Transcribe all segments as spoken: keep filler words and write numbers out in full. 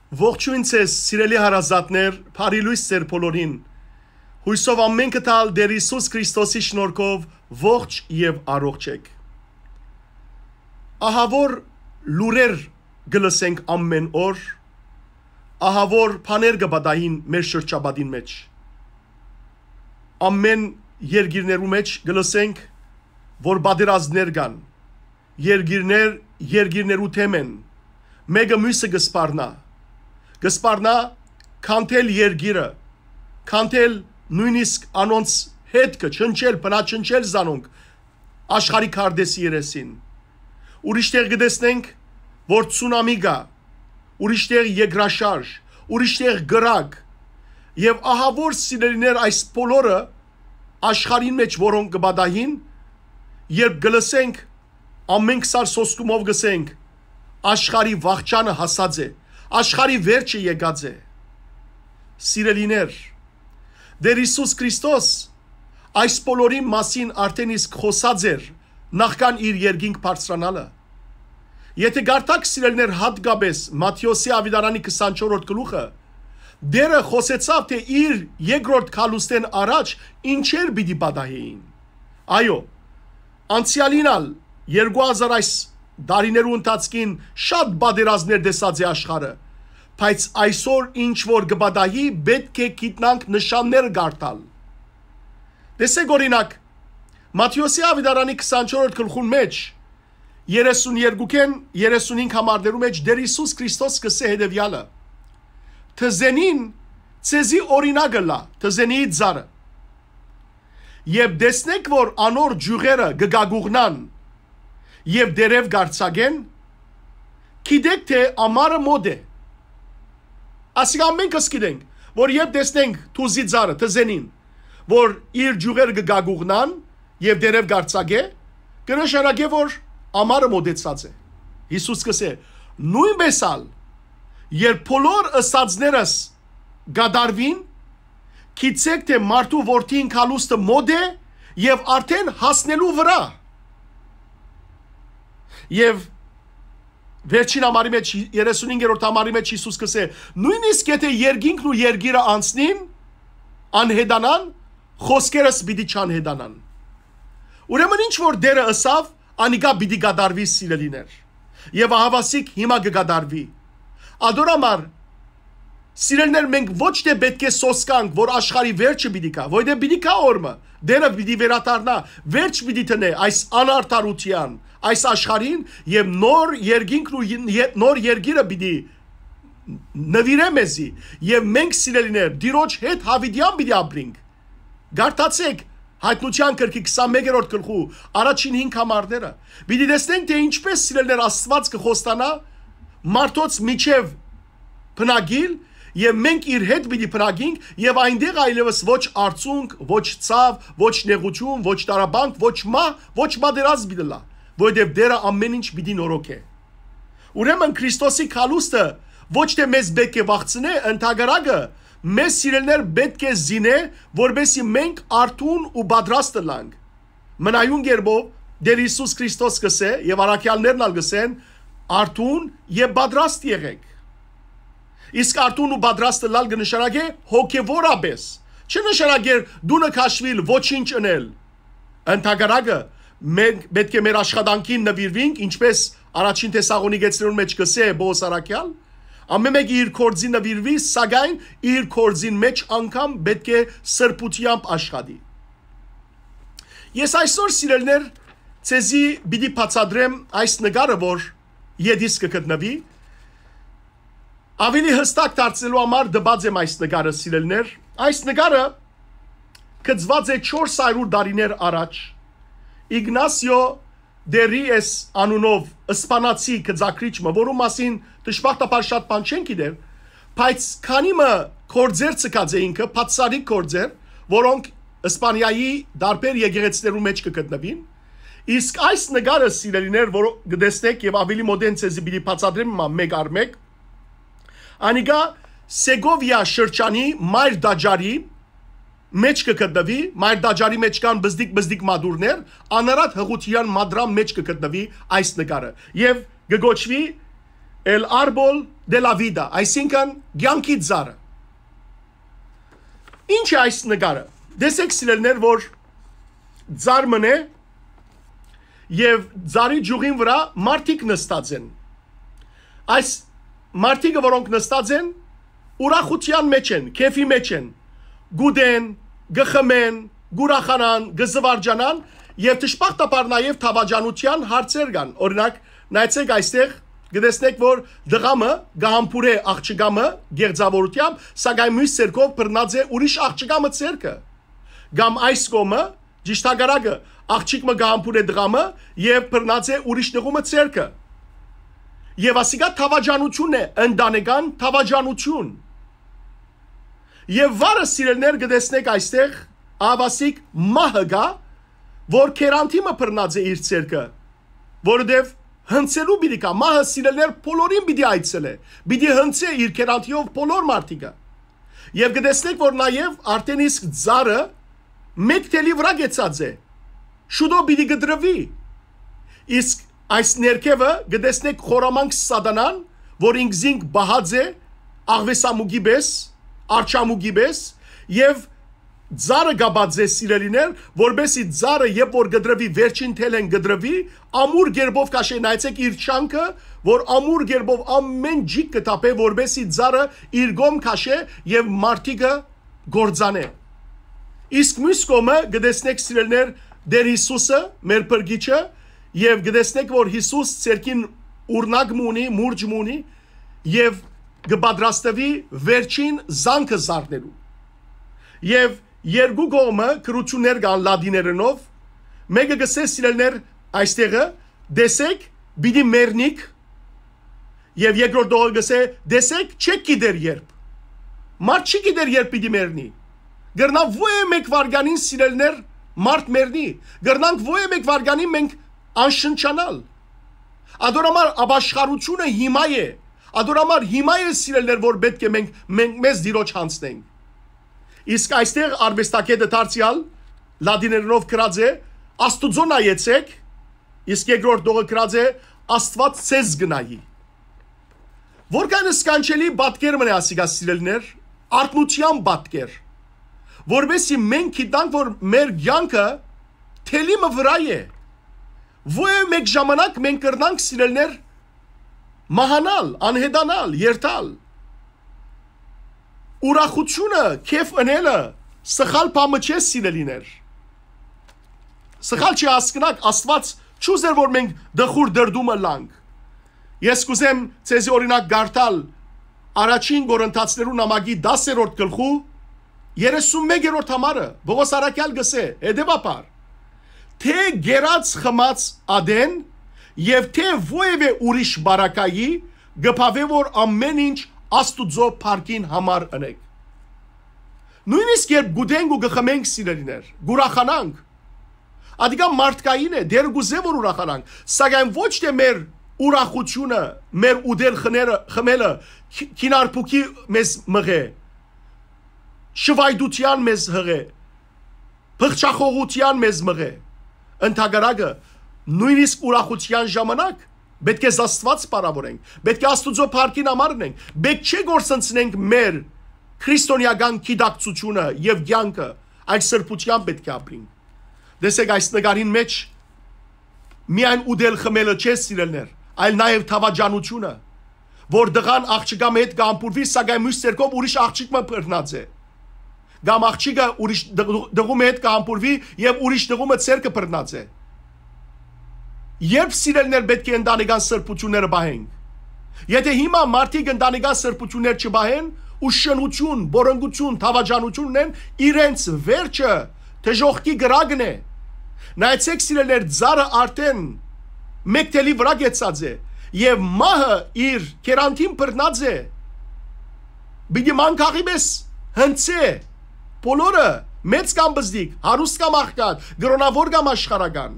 Ողջոյն ձեզ, սիրելի հարազատներ, բարի լոյս ձեր բոլորին։ Յուսով ամէնքը տալ Տեր Յիսուս Քրիստոսի շնորհքով ողջ եւ առողջ էք։ Ահա որ լուրեր կը լսենք ամէն օր, ահա որ բաներ կը պատահին մեր շրջապատին մեջ։ Ամէն երկիրներու մեջ կը լսենք, որ պատերազմներ կան, երկիրներ երկիրներու դէմ են, մէկը միւսը կը սպառնայ, կը սպառնայ քանդել երկիրը, քանդել նոյնիսկ անոնց հետքը, չնչել, բնաչնչել զանոնք աշխարհի քարտէսի երեսին։ Ուրիշ տեղ կը տեսնենք, որ ցունամի կայ, ուրիշ տեղ երկրաշարժ, ուրիշ տեղ կրակ։ Եւ ահա որ, սիրելիներ, այս բոլորը աշխարհին մեջ որոնք կը պատահին, երբ կը լսենք, ամէնք սար սոսկումով կ'ըսենք. «Աշխարհի վախճանը հասած է, աշխարհի վերջը եկած է»։ Սիրելիներ, Տեր Յիսուս Քրիստոս այս բոլորին մասին արդէն իսկ խօսած էր նախքան իր երկինք բարձրանալը։ Եթէ կարդաք, սիրելիներ, յատկապէս Մատթէոսի աւետարանի քսանչորրորդ գլուխը, Տերը խօսեցաւ, թէ իր երկրորդ գալուստէն առաջ ինչեր պիտի պատահէին։ Այո, անցեալին ալ երկու հազար այս տարիներու ընթացքին շատ պատերազմներ տեսած է աշխարհը, բայց այսօր ինչ որ կը պատահի, պէտք է գիտնանք նշանները կարդալ։ Տեսէք, օրինակ, Մատթէոսի աւետարանի քսանչորրորդ գլխուն մեջ, երեսուն երկուքէն երեսունհինգ համարներու մեջ Տեր Յիսուս Քրիստոս կ'ըսէ հետեւեալը. «Թզենին ձեզի օրինակ ըլլայ, թզենիի ծառը։ Երբ տեսնէք, որ անոր ճիւղերը կը գագուղնան եւ տերեւ կ'արձակեն, գիտէք թէ ամառը մօտ է»։ Ասիկա ամէնքս գիտենք, որ երբ տեսնենք թուզի ծառը, թզենին, որ իր ճիւղերը կը գագուղնան եւ տերեւ կ'արձակէ, կը նշանակէ, որ ամառը մօտեցած է։ Յիսուս կ'ըսէ. «Նոյնպէս ալ, երբ բոլոր ըսածներս կատարուին, գիտցէք թէ մարդու որդին գալուստը մօտ է եւ արդէն հասնելու վրայ»։ Եւ վերջին համարի մեջ, երեսունհինգերորդ համարի մեջ Յիսուս կ'ըսէ. «Նոյնիսկ եթէ երկինքն ու երկիրը անցնին, անհետանան, խօսքերս պիտի չանհետանան»։ Ուրեմն ինչ որ Տերը ըսաւ, անիկա պիտի կատարուի, սիրելիներ։ Եւ ահաւասիկ հիմա կը կատարուի։ Ատոր համար, սիրելիներ, մենք ոչ թէ պէտք է սոսկանք, որ աշխարհի վերջը պիտի գայ, որտեղ պիտի գայ օր մը, Տերը պիտի վերադառնայ, վերջ պիտի դնէ այս անարդարութեան, այս աշխարհին, եւ նոր երկինքն ու ե-, ե-, նոր երկիրը պիտի նուիրէ մեզի, եւ մենք, սիրելիներ, Տիրոջ հետ յաւիտեան պիտի ապրինք։ Կարդացէք Յայտնութեան գրքի քսանմեկերորդ գլխու առաջին հինգ համարները։ Պիտի տեսնենք, թէ ինչպէս, սիրելիներ, Աստուած կը խոստանայ մարդոց միջեւ բնակիլ, եւ մենք իր հետ պիտի բնակինք, եւ այնտեղ այլեւս ոչ արցունք, ոչ ցաւ, ոչ նեղութիւն, ոչ տառապանք, ոչ մահ, ոչ պատերազմ պիտի ըլլայ, որովհետեւ Տերը ամէն ինչ պիտի նորոգէ։ Ուրեմն Քրիստոսի գալուստը ոչ թէ մեզ պէտք է վախցնէ, ընդհակառակը, մեզ, սիրելիներ, պէտք է զինէ, որպեսզի մենք արթուն ու պատրաստ ըլլանք։ Մնայուն կերպով, Տեր Յիսուս Քրիստոս կ'ըսէ, եւ առաքեալներն ալ կ'ըսեն. «Արթուն եւ պատրաստ եղէք»։ Իսկ արթուն ու պատրաստ ըլլալ կը նշանակէ հոգեւորապէս։ Չի նշանակեր տունը քաշուիլ, ոչինչ ընել։ Ընդհակառակը, մենք պէտք է մեր աշխատանքին նուիրվինք, ինչպես առաջին Թեսաղոնիկեցիներուն մեջ կ'ըսէ Պողոս առաքեալ. «Ամէն մէկը իր գործին նուիրուի, սակայն իր գործին մեջ անգամ պէտք է սրբութեամբ աշխատի»։ Ես այսօր, սիրելիներ, ձեզի պիտի բացատրեմ այս նկարը, որ ետիս կը գտնուի։ Ավելի յստակ դարձնելու համար տուած եմ այս նկարը, սիրելիներ։ Այս նկարը գծուած է չորս հարիւր տարիներ առաջ Իգնասիո դե Ռիես անունով սպանացի գծագրիչ մը, որու մասին դժբախտաբար շատ բան չեն գիտեր, բայց քանի մը գործեր ցկած է ինքը, բացառիկ գործեր, որոնք Իսպանիայի տարբեր եկեղեցիներու մեջ կը գտնուին։ Իսկ այս նկարը, սիրելիներ, որ կը տեսնէք եւ ավելի մօտէն ձեզի պիտի բացատրեմ մա-, մէկ առ մէկ, անիկա Սեգովիա շրջանի մայր տաճարի մեջ կը գտնուի, մայր տաճարի մեջ կան բզդիկ-բզդիկ մատուռներ, անարատ յղութեան մատրան մեջ կը գտնուի այս նկարը եւ կը կոչուի El Árbol de la vida, այսինքն՝ կեանքի ծառը։ Ինչ է այս նկարը։ Տեսեք, սիրելիներ, որ ծառ մըն է եւ ծառի ճիւղին վրայ մարդիկ նստած են։ Այս մարդիկը, որոնք նստած են, ուրախութեան մէջ են, քեֆի մէջ են, կ'ուտեն, կը խմեն, կ'ուրախանան, կը զուարճանան եւ դժբախտաբար նաեւ դաւաճանութեան հարցեր կան։ Օրինակ, նայեցէք այստեղ, կը տեսնէք, որ տղամը կը համբուրէ աղջկամը գեղձաւորութեամբ, սակայն միւս ձեռքով բռնած է ուրիշ աղջկամը ձեռքը։ Կամ այս կողմը, ճիշդակարակը, աղջիկ մը կը համբուրէ տղամը եւ բռնած է ուրիշ տղու մը ձեռքը։ Եւ ասիկա դաւաճանութիւն է, ընտանեկան դաւաճանութիւն։ Եւ վարը, սիրելիներ, կը տեսնէք այստեղ, ահաւասիկ մահը կայ, որ գերանդի մը բռնած է իր ձեռքը, որովհետեւ հնձելու պիտի գայ, մահը, սիրելիներ, բոլորին պիտի այցելէ, պիտի հնձէ իր գերանդիով բոլոր մարդիկը։ Եւ կը տեսնէք, որ նաեւ արդէն իսկ ծառը մէկ թելի վրայ կեցած է, շուտով պիտի կտրուի։ Իսկ այս ներքեւը կը տեսնէք խորամանկ սատանան, որ ինքզինք պահած է աղուեսամուկի պէս, արջամուկի պէս, եւ ծառը կապած է, սիրելիներ, որպեսզի ծառը, երբ որ կտրուի, վերջին թելէն կտրուի, ամուր կերպով քաշէ, նայեցէք իր չանքը, որ ամուր կերպով ամէն ջիկ կը թափէ, որպեսզի ծառը իր կողմ քաշէ եւ մարդիկը կործանէ։ Իսկ միւս կողմը կը տեսնէք, սիրելիներ, Տէր Յիսուսը, մեր փրկիչը, եւ կը տեսնէք, որ Յիսուս ձեռքին ուրնակ մը ունի, մուրճ մը ունի, եւ կը պատրաստուի վերջին զանգը զարնելու։ Եւ երկու կողմը գրութիւններ կան լատիներենով, մէկը կ'ըսէ, սիրելիներ, այստեղը, տեսեք, պիտի մեռնիք, եւ երկրորդ տողը կ'ըսէ, տեսեք, չէք գիտեր երբ։ Մարդ չի գիտեր երբ պիտի մեռնի։ Կրնայ ո-, մէկ վայրկեանին, սիրելիներ, մարդ մեռնի։ Կրնանք ո-, մէկ վայրկեանին մենք անշնչանալ։ Ադոր համար ապաշխարութիւնը հիմա է։ Ադոր համար հիմա է, սիրելիներ, որ պէտք է մենք, մենք մեզ Տիրոջ յանձնենք։ Իսկ այստեղ արուեստագետը դարձեալ լատիներենով գրած է, «Աստուծոյ նայեցեք», իսկ երկրորդ տողը գրած է, «Աստուած ձեզ կը նայի»։ Որքան սքանչելի պատկեր մնայ ասիկա, սիրելիներ, արթնութեան պատկեր, որպեսզի մենք գիտանք, որ մեր կեանքը թելի մը վրայ է։ Ո-, մէկ ժամանակ մենք կրնանք, սիրելիներ, մահանալ, անհետանալ, երթալ։ Ուրախութիւնը, քեֆ ընելը սխալ բան մը չէ, սիրելիներ։ Սխալ չի հասկնաք, Աստուած չուզեր, որ մենք տխուր դրդումը լանք։ Ես կուզեմ ձեզի օրինակ կարդալ առաջին Կորինթացիներու նամակի դասերորդ գլխու երեսուն մեկերորդ համարը, Պողոս առաքեալ կ'ըսէ հետեւաբար. «Թէ կերած խմած ատեն եւ թէ որեւէ ուրիշ պարագայի, կը բաւէ որ ամէն ինչ Աստուծոյ փառքին համար ընէք»։ Նոյնիսկ երբ կ'ուտենք ու կը խմենք, սիրելիներ, կ'ուրախանանք, ադիկա մարդկային է, Տէրը կ'ուզէ որ ուրախանանք, սակայն ոչ թէ մեր ուրախութիւնը, մեր ուտել խները, խմելը, քի-, քինարբուքի մեզ մղէ, շվայտութեան մեզ յղէ, փղճախողութեան մեզ մղէ։ Ընդհակառակը, նոյնիսկ ուրախութեան ժամանակ պէտք է Աստուած փառաւորենք, պէտք է Աստուծոյ փառքին համար ընենք, պէտք չէ կորսնցնենք մեր քրիստոնեական գիտակցութիւնը եւ կեանքը, այլ սրբութեան պէտք է ապրենք։ Տեսեք, այս նկարին մէջ միայն ուտել խմելը չէ, սիրելիներ, այլ նաեւ դաւաճանութիւնը, որ տղան աղջկան հետ կը համբուրուի, սակայն միւս ձեռքով ուրիշ աղջիկ մը բռնած է, կամ աղջիկը ուրիշ տղ-, տղու հետ կը համբուրուի եւ ուրիշ տղու մը ձեռքը բռնած է։ Երբ, սիրելիներ, պէտք է ընտանեկան սրբութիւնները պահենք։ Եթէ հիմա մարդիկ ընտանեկան սրբութիւններ չպահեն ու շնութիւն, պոռնկութիւն, դաւաճանութիւն ունեն, իրենց վերջը դժոխքի կրակն է։ Նայեցեք, սիրելիներ, ծառը արդէն մէկ թելի վրայ կեցած է եւ մահը իր գերանտին բռնած է։ Պիտի մանկաղի պես հնձէ բոլորը, մեծ կամ պզտիկ, հարուստ կամ աղքատ, կրօնաւոր կամ աշխարհական։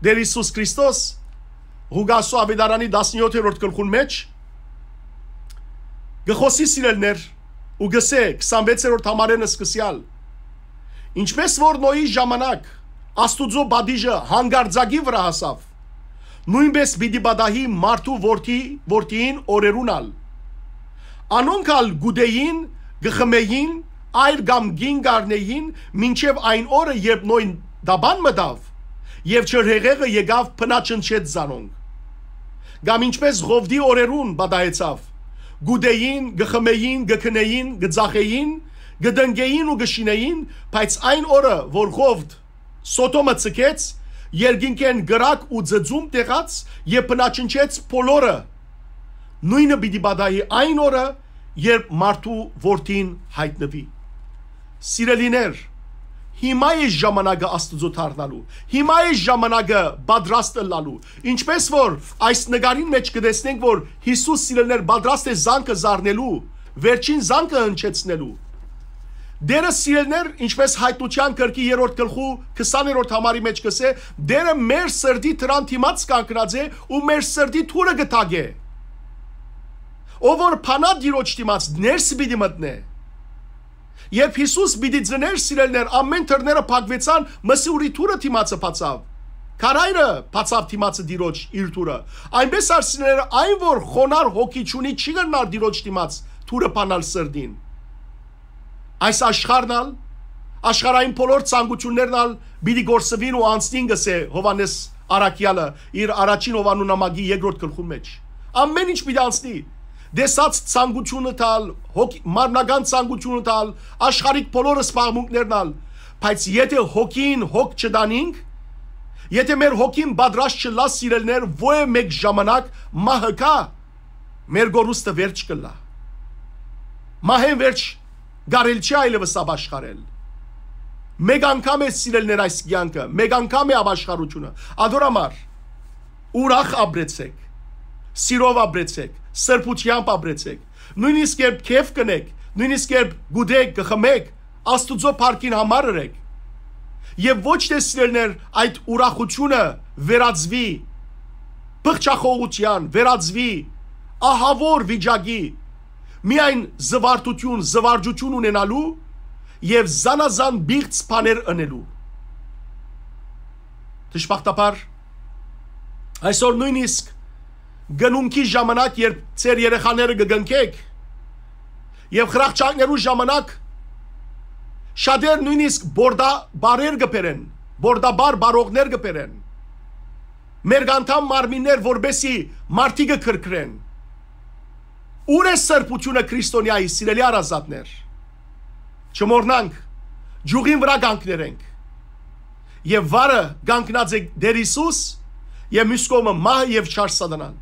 Տէր Յիսուս Քրիստոս Ղուկասու աւետարանի տասնեթերորդ գլխուն մէջ կը խօսի, սիրելիներ, ու կ'ըսէ քսանվեցերորդ համարէն սկսեալ. «Ինչպես որ Նոյի ժամանակ Աստուծոյ պատիժը հանկարծակի վրայ հասաւ, նոյնպէս պիտի պատահի մարդու որդի, որդիին օրերուն ալ։ Անոնք ալ կ'ուտէին, կը խմէին, այր կամ կին կ'առնէին, մինչեւ այն օրը, երբ նոյն տապան մտաւ, եւ ջրհեղեղը եկաւ, բնաչնչեց զանոնք։ Կամ ինչպէս Ղովտի օրերուն պատահեցաւ, կ'ուտէին, կը խմէին, կը քնէին, կը ծախէին, կը տնկէին ու կը շինէին, բայց այն օրը, որ Ղովտ Սոդոմը ձգեց, երկինքէն կրակ ու ձծում տեղաց եւ բնաչնչեց բոլորը, նոյնը պիտի պատահի այն օրը, երբ մարդու որդին յայտնուի։ Սիրելիներ, հիմա է ժամանակը Աստուծոյ դառնալու, հիմա է ժամանակը պատրաստ ըլլալու։ Ինչպէս որ այս նկարին մէջ կը տեսնենք, որ Յիսուս, սիրելիներ, պատրաստ է զանքը զարնելու, վերջին զանքը հնչեցնելու։ Տերը, սիրելիներ, ինչպէս Յայտնութեան գրքի երրորդ գլխու քսաներորդ համարի մէջ կ'ըսէ, Տերը մեր սրտի դրան դիմաց կանգնած է ու մեր սրտի դուռը կը թակէ։ Ով որ բանայ Տիրոջ դիմաց, ներս պիտի մտնէ։ Երբ Յիսուս պիտի ծնէր, սիրելիներ, ամէն դռները փակուեցան, մսի ուրի դուռը դիմացը բացաւ։ Քարայրը բացաւ դիմացը Տիրոջ իր դուռը։ Այնպէս ալ, սիրելիներ, այն որ խոնար հոգի չունի, չի կրնար Տիրոջ դիմաց դուռը բանալ սրտին։ Այս աշխարհն ալ, աշխարհային բոլոր ցանկութիւններն ալ պիտի կորսուին ու անցնին, կ'ըսէ Յովհաննէս Առաքեալը իր առաջին Յովհաննու նամակի երկրորդ գլխուն մէջ։ Ամէն ինչ պիտի անցնի։ Տեսած ցանկութիւնը տալ, հոգ-, մարմնական ցանկութիւնը տալ, աշխարհիկ բոլոր սպաղմունքներն ալ, բայց եթէ հոգին հոգ չտանինք, եթէ մեր հոգին պատրաստ չլա, սիրելիներ, ոյ մէկ ժամանակ մահը կայ, մեր կորուստը վերջ կ'ըլլայ։ Մահէն վերջ կարելի չի այլեւս ապաշխարել։ Մեկ անգամ է, սիրելիներ, այս կեանքը, մեկ անգամ է ապաշխարութիւնը։ Ադոր համար ուրախ ապրեցէք, սիրով ապրեցէք, սրբութեամբ ապրեցէք, նոյնիսկ երբ քեֆ կ'ընէք, նոյնիսկ երբ կ'ուտէք, կը խմէք, Աստուծոյ փառքին համար ըրէք։ Եւ ոչ թէ, սիրելիներ, այդ ուրախութիւնը վերածուի փղճախոհութեան, վերածուի ահաւոր վիճակի, միայն զվարթութիւն, զվարճութիւն ունենալու եւ զանազան պիղծ բաներ ընելու։ Դժբախտաբար, այսօր նոյնիսկ կնունքի ժամանակ, երբ ձեր երեխաները կը կնքէք, եւ խրախճանքներու ժամանակ շատեր նոյնիսկ բորդաբարեր կը բերեն, բորդաբար բարողներ կը բերեն, մերկանդամ մարմիններ, որպեսի մարդիկը քրքրեն։ Ո՞ւր է սրբութիւնը քրիստոնեայի, սիրելի հարազատներ։ Չմոռնանք, ճիւղին վրայ կանգներենք։ Եւ վարը կանգնած է Տեր Յիսուս, եւ մյուս կողմը մահը եւ չար Սատանան։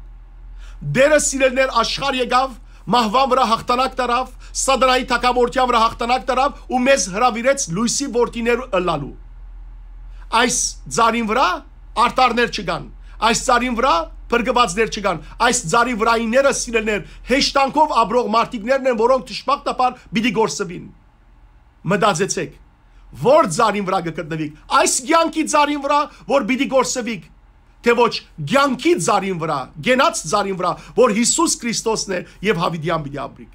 Տերը, սիրելիներ, աշխարհ եկաւ, մահուան վրայ յաղթանակ տարաւ, Սատանայի թագաւորութեան վրայ յաղթանակ տարաւ ու մեզ հրաւիրեց լոյսի որդիներ ըլլալու։ Այս ծառին վրայ արդարներ չկան, այս ծառին վրայ փրկուածներ չկան, այս ծառի վրայինները, սիրելիներ, հեշտանքով ապրող մարդիկներն են, որոնք դժբախտաբար պիտի կորսուին։ Մտածեցէք, որ ծառին վրայ կը գտնուիք, այս կեանքի ծառին վրայ, որ պիտի կորսուիք, թէ ոչ կեանքի ծառին վրայ, կենաց ծառին վրայ, որ Յիսուս Քրիստոսն է, եւ յաւիտեան պիտի ապրիք։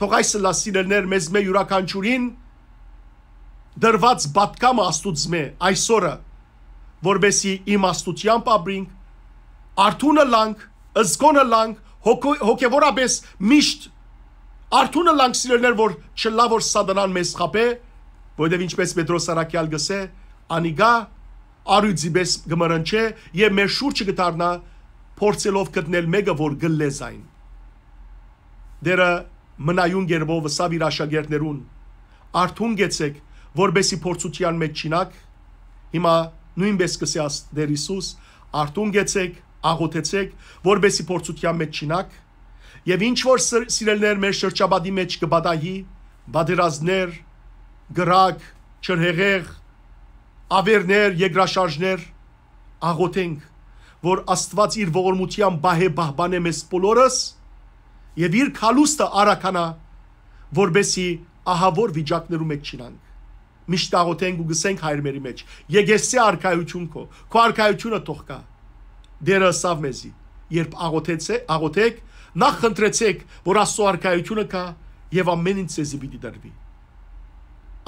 Թող այս ըլլայ, սիրելիներ, մեզմէ յուրաքանչիւրին տրուած պատգամը Աստուծմէ այսօրը, որպեսզի իմաստութեամբ ապրինք, արթուն ըլլանք, զգոն ըլլանք, հոգ-, հոգեվորապէս միշտ արթուն ըլլանք, սիրելիներ, որ չըլլայ որ Սատանան մեզ խաբէ, որովհետեւ ինչպէս Պետրոս Առաքեալ կ'ըսէ, անիկա առիւծի պէս կը մռնչէ եւ մեր շուրջը կը դառնայ, փորձելով գտնել մէկը, որ կլլէ զայն։ Տերը մնայուն կերպով ըսաւ իր աշակերտներուն. «Արթուն կեցեք, որպեսզի փորձութեան մեջ չիյնաք»։ Հիմա նոյնպէս կ'ըսէ աս-, Տեր Յիսուս. «Արթուն կեցեք, աղօթեցեք, որպեսզի փորձութեան մեջ չիյնաք»։ Եւ ինչ որ սր-, սիրելիներ, մեր շրջապատի մեջ կը պատահի, պատերազմներ, կրակ, ջրհեղեղ, ավերներ, երկրաշարժներ, աղօթենք, որ Աստուած իր ողորմութեան պահէ պահպանէ մեզ բոլորս եւ իր քալուստը արագանայ, որպեսզի ահաւոր վիճակներու մեջ չիյնանք։ Միշտ աղօթենք ու կ'ըսենք հայրմերի մեջ. «Եկեղեցի արքայութիւն քո, քո արքայութիւնը թող գայ»։ Տերը ըսաւ մեզի. «Երբ աղօթեցէ-, աղօթեք, նախ խնդրեցէք, որ Աստուծոյ արքայութիւնը գայ, եւ ամէն ինչ ձեզի պիտի տրուի»։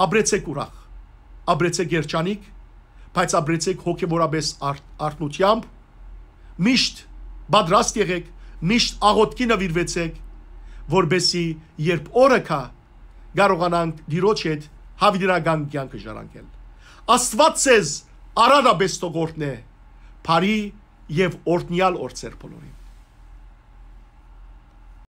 Ապրեցեք ուրախ, ապրեցեք երջանիկ, բայց ապրեցեք հոգեվորապէս արթ-, արթնութեամբ, Միշտ պատրաստ եղեք, միշտ աղօթքի նուիրուեցեք, որպեսզի երբ օրը գայ, կարողանանք Տիրոջ հետ հաւիտենական կեանքը ժառանգել։ Աստուած ձեզ արատապէս թող օրհնէ, բարի եւ օրհնեալ օր ձեր բոլորին։